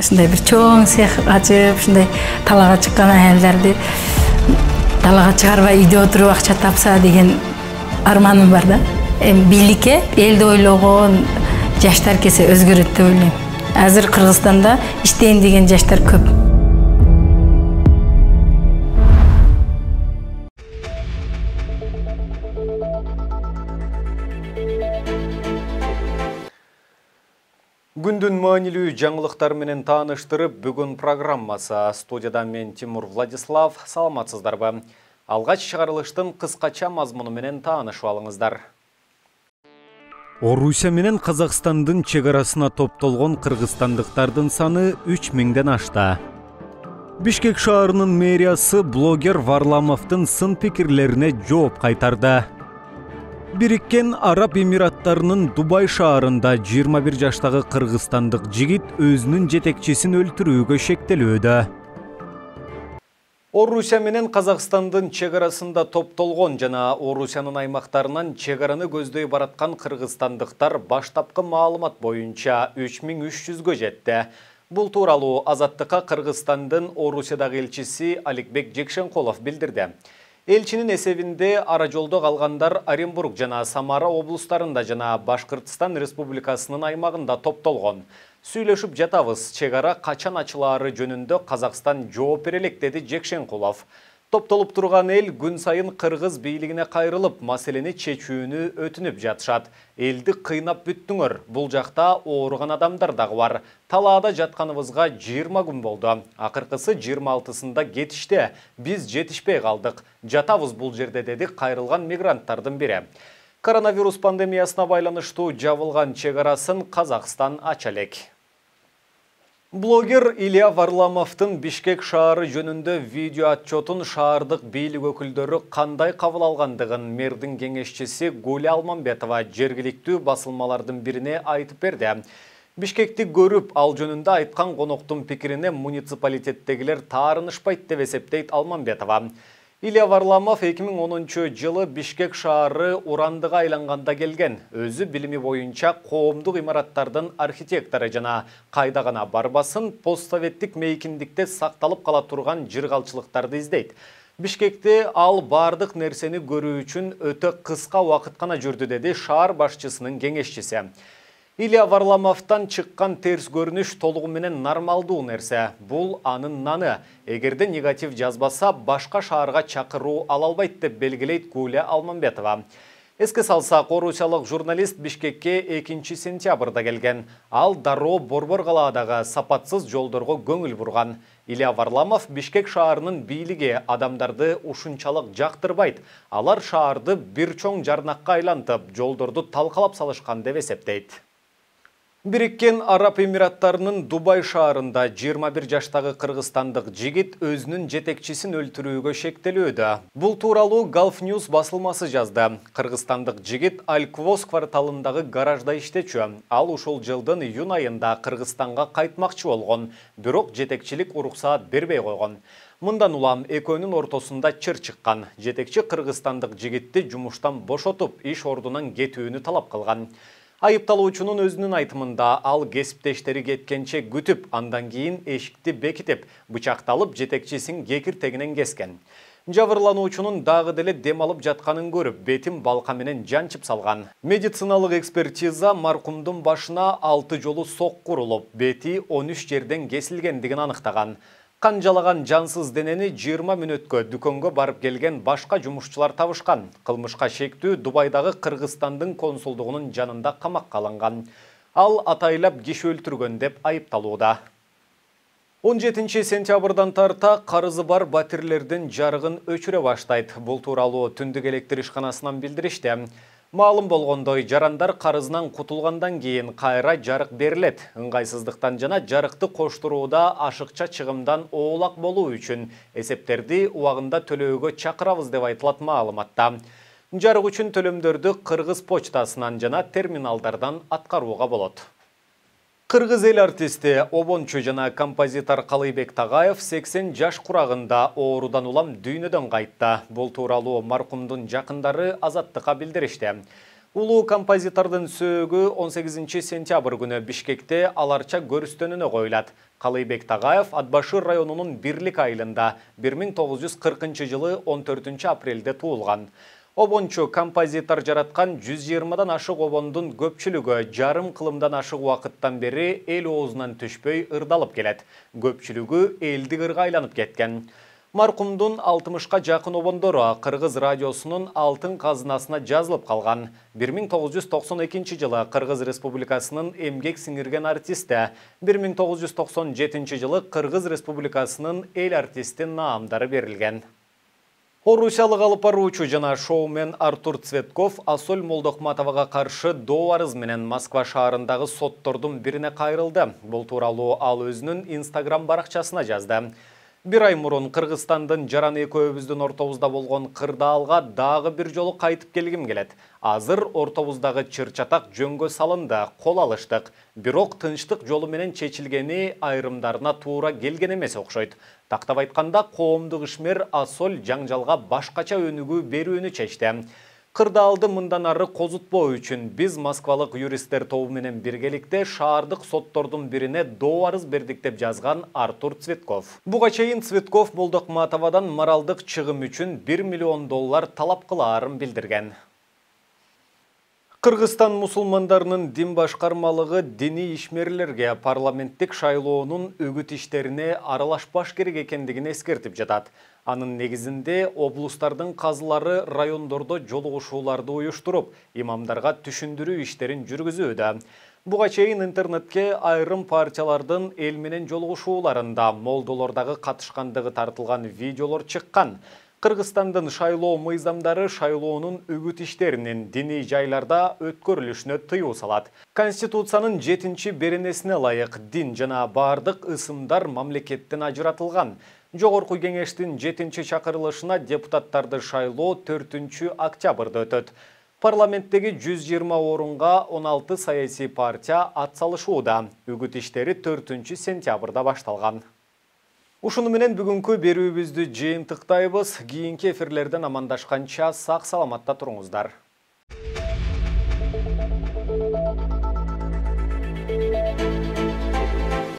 ушундай бир чоң цех ачып, ушундай талаага чыккан аялдарды талаага чыгарбай үйдө отуруп акча тапса деген арманым бар да. Бийликке элди ойлогон жаштар келсе өзгөрөт деп ойлойм. Азыр Кыргызстанда иштейин деген жаштар көп. Күндүн маанилүү жаңылыктар менен тааныштырып, бүгүн программасы. Студияда мен Тимур Владислав. Саламатсыздарбы? Алгач чыгарылыштын кыскача мазмуну менен таанышып алыңыздар. Орусия менен Казакстандын чек арасына топтолгон кыргызстандыктардын саны 3000ден ашты. Бишкек шаарынын мэриясы блогер Варламовдун сын пикирлерине жооп кайтарды. Бириккен Араб Эмираттарынын Дубай шаарында 21 жаштагы кыргызстандык жигит өзүнүн жетекчисин өлтүрүүгө шектелүүдө. Орусия менен Казакстандын чек арасында топтолгон жана Орусиянын аймактарынан чек араны көздөй бараткан кыргызстандыктар баштапкы маалымат боюнча 3300гө жетти. Бул тууралуу Азаттыкка Кыргызстандын Орусиядагы элчиси Аликбек Жекшенкулов билдирди. Элчинин эсебинде ара жолдо калгандар Оренбург жана Самара облустарында жана Башкыртстан Республикасынын аймагында топтолгон. Сүйлөшүп жатабыз, чек ара качан ачылаары жөнүндө Казакстан жооп бере элек, деди Жекшенкулов. Топтолуп турган эл күн сайын кыргыз бийлигине кайрылып, маселени чечүүнү өтүнүп жатышат. Элди кыйнап бүттүңөр. Бул жакта ооруган адамдар дагы бар. Талаада жатканыбызга 20 күн болду. Акыркысы 26-сында кетишти. Биз жетишпей калдык. Жатабыз бул жерде, деди кайрылган мигранттардын бири. Коронавирус пандемиясына байланыштуу жабылган чек арасын Казакстан ача элек. Блогер Илья Варламовдун Бишкек шаары жөнүндө видео отчетун шаардык бийлик өкүлдөрү кандай кабыл алгандыгын мэрдин кеңешчиси Гуля Алмамбетова жергиликтүү басылмалардын бирине айтып берди. Бишкекти көрүп, ал жөнүндө айткан коноктун пикирине муниципалитеттегилер таарынышпайт деп эсептейт Алмамбетова. Илья Варламов 2010-жылы Бишкек шаары урандыга айланганда келген. Өзү билими боюнча коомдук имараттардын архитектору жана кайда гана барбасын постсоветтик мейкиндикте сакталып кала турган жыргалчылыктарды издейт. Бишкекте ал бардык нерсени көрүү үчүн өтө кыска убакыт гана жүрдү, деди шаар башчысынын кеңешчиси. Илья Варламовдон чыккан терс көрүнүш толугу менен нормалдуу нерсе. Бул анын наны. Эгерде негатив жазбаса, башка шаарга чакыруу ала албайт, деп белгилейт Гуля Алмамбетова. Эске салсак, орусиялык журналист Бишкекке 2-сентябрда келген. Ал дароо Борбор калаадагы сапатсыз жолдорго көңүл бурган. Илья Варламов Бишкек шаарынын бийлиги адамдарды ушунчалык жактырбайт. Алар шаарды бир чоң жарнакка айлантып, жолдорду талкалап салышкан деп эсептейт. Бириккен Араб Эмираттарынын Дубай шаарында 21 жаштагы кыргызстандык жигит өзүнүн жетекчисин өлтүрүүгө шектелүүдө. Бул тууралуу Gulf News басылмасы жазды. Кыргызстандык жигит Аль-Квоз кварталындагы гаражда иштечү. Ал ушул жылдын июнь айында Кыргызстанга кайтмакчы болгон, бирок жетекчилик уруксаат бербей койгон. Мындан улам экөөнүн ортосунда чыр чыккан. Жетекчи кыргызстандык жигитти жумуштан бошотуп, иш ордунан кетүүнү талап кылган. Айыпталуучунун өзүнүн айтымында ал кесиптештери кеткенче күтүп, андан кийин эшикти бекитип, бычакталып жетекчисин кекиртегинен кескен. Жабырлануучунун дагы деле дем алып жатканын көрүп, бетин балка менен жанчып салган. Медициналык экспертиза маркумдун башына 6 жолу сокку урулуп, бети 13 жерден кесилгендигин аныктаган. Кан жалаган жансыз денени 20 мүнөткө дүкөнгө барып келген башка жумушчулар табышкан. Кылмышка шектүү Дубайдагы Кыргызстандын консулдугунун жанында камакка алынган. Ал атайлап киши өлтүргөн деп айыпталууда. 17 сентябрдан тарта карызы бар батирлердин жарыгын өчүрө баштайт. Бул тууралуу Түндүк электр ишканасынан билдиришти. Маалым болгондой, жарандар карызынан кутулгандан кийин кайра жарык берилет. Ыңгайсыздыктан жана жарыкты коштурууда ашыкча чыгымдан оолак болуу үчүн эсептерди убагында төлөөгө чакырабыз деп айтылат маалыматта. Жарык үчүн төлөмдөрдү Кыргыз почтасынан жана терминалдардан аткарууга болот. Кыргыз эл артисти, обончу жана композитор Калыйбек Тагаев 80 жаш курагында оорудан улам дүйнөдөн кайтты. Бул тууралуу маркумдун жакындары Азаттыкка билдиришти. Улуу композитордун сөөгү 18 сентябрь күнү Бишкекте аларча көрүстөнүнө коюлат. Калыйбек Тагаев Ат Башыр районунун Бирлик айылында 1940 жылы 14 апрелде туулган. Обончу композитор жараткан 120дан ашык обондун көпчүлүгү жарым кылымдан ашык убакыттан бери эл оозунан түшпөй ырдалып келет. Көпчүлүгү элдик ырга айланып кеткен. Маркумдун 60ка жакын обондору Кыргыз радиосунун алтын казынасына жазылып калган. 1992 жылы Кыргыз Республикасынын эмгек сиңирген артисти, 1997 жылы Кыргыз Республикасынын эл артисти наамдары берилген. Орусиялык алып баруучу жана шоумен Артур Цветков Асоль Молдокматовага каршы доо арыз менен Москва шаарындагы соттордун бирине кайрылды. Бул тууралуу ал өзүнүн Instagram баракчасына жазды. Bir ай мурун Кыргызстандын жаран экөөбүздүн ортобузда болгон кырдаалга дагы бир жолу кайтып келгим келет. Азыр ортобуздагы чыр-чатак жөнгө салынды, кол алыштык. Бирок тынчтык жолу менен чечилгени айрымдарына туура келген эмес окшойт. Тактап айтканда, коомдук ишмер Асоль жаңжалга башкача өнүгүү берүүнү чечти. Кырдаалды мындан ары козутпоо үчүн биз москвалык юристтер тобу менен биргеликте шаардык соттордун бирине доо арыз бердик деп жазган Артур Цветков. Буга чейин Цветков Молдокматовадан моралдык чыгым үчүн $1 миллион талап кылаарын билдирген. Кыргызстан мусулмандарынын дин башкармалыгы диний ишмерлерге парламенттик шайлоонун үгүт иштерине аралашпаш керек экендигин эскертип жатат. Анын негизинде облустардын казылары райондордо жолугушууларды уюштуруп, имамдарга түшүндүрүү иштерин жүргүзүүдө. Буга чейин интернетке айрым партиялардын эл менен жолугушууларында молдолордагы катышкандыгы тартылган видеолор чыккан. Кыргызстандын шайлоо мыйзамдары шайлоонун үгүт иштеринин диний жайларда өткөрүлүшүнө тыюу салат. Конституциянын 7-беренесине ылайык дин жана бардык ысымдар мамлекеттен ажыратылган. Жогорку кеңештин 7-чакырылышына депутаттарды шайлоо 4-октябрда өтөт. Парламенттеги 120 орунга 16 саясий партия атсалышууда. Үгүт иштери 4-сентябрда башталган. Ушуну менен бүгүнкү берүүбүздү жыйынтыктайбыз. Кийинки эфирлерден амандашканча сак саламатта туруңуздар.